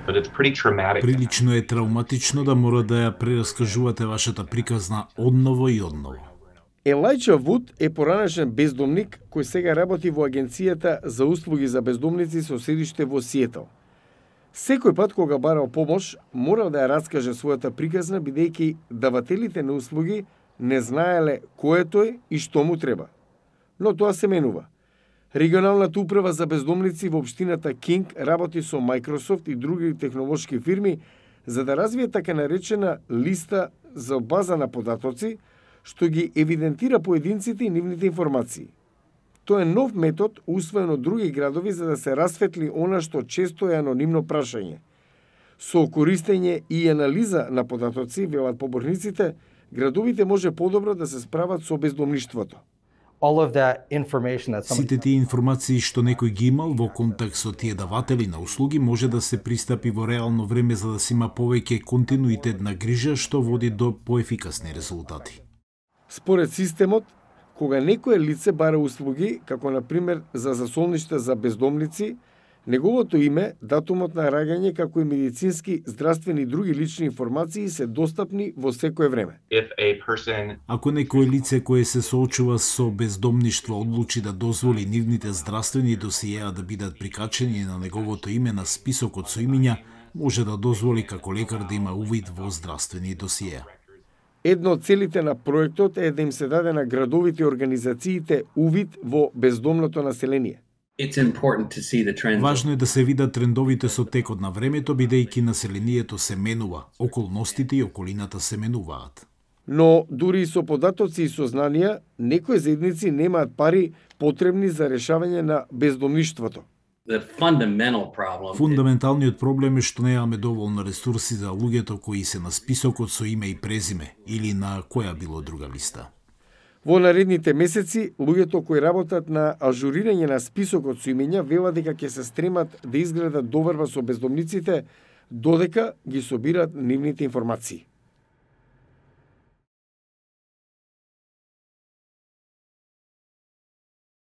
but it's pretty traumatic. Прилично е травматично да мора да ја прераскажувате вашата приказна одново и одново. Елајча Вуд е поранешен бездомник кој сега работи во Агенцијата за услуги за бездомници со седиште во Сиетл. Секој пат кога барал помош, морал да ја раскаже својата приказна, бидејќи давателите на услуги не знаеле кој е тој и што му треба. Но тоа се менува. Регионалната управа за бездомници во општината Кинг работи со Microsoft и други технолошки фирми за да развие така наречена листа за база на податоци, што ги евидентира поединците и нивните информации. Тоа е нов метод усвоен од други градови за да се расветли она што често е анонимно прашање. Со користење и анализа на податоци, велат поборниците, градовите може подобро да се справат со бездомништвото. Сите тие информации што некој ги имал во контакт со тие даватели на услуги може да се пристапи во реално време за да се има повеќе континуитет на грижа што води до поефикасни резултати. Според системот, кога некое лице бара услуги, како на пример за засолништа за бездомници, неговото име, датумот на раѓање, како и медицински, здравствени и други лични информации се достапни во секое време. Ако некое лице кое се соочува со бездомништво одлучи да дозволи нивните здравствени досиеа да бидат прикачени на неговото име на списокот со имиња, може да дозволи како лекар да има увид во здравствени досиеа. Едно од целите на проектот е да им се даде на градовите и организациите увид во бездомното население. Важно е да се видат трендовите со текот на времето, бидејќи населението се менува, околностите и околината се менуваат. Но дури и со податоци и сознанија, некои заедници немаат пари потребни за решавање на бездомништвото. Фундаменталниот проблем е што немаме доволно ресурси за луѓето кои се на списокот со име и презиме или на која било друга листа. Во наредните месеци, луѓето кои работат на ажурирање на списокот со имења велат дека ќе се стремат да изградат доварба со бездомниците додека ги собираат нивните информации.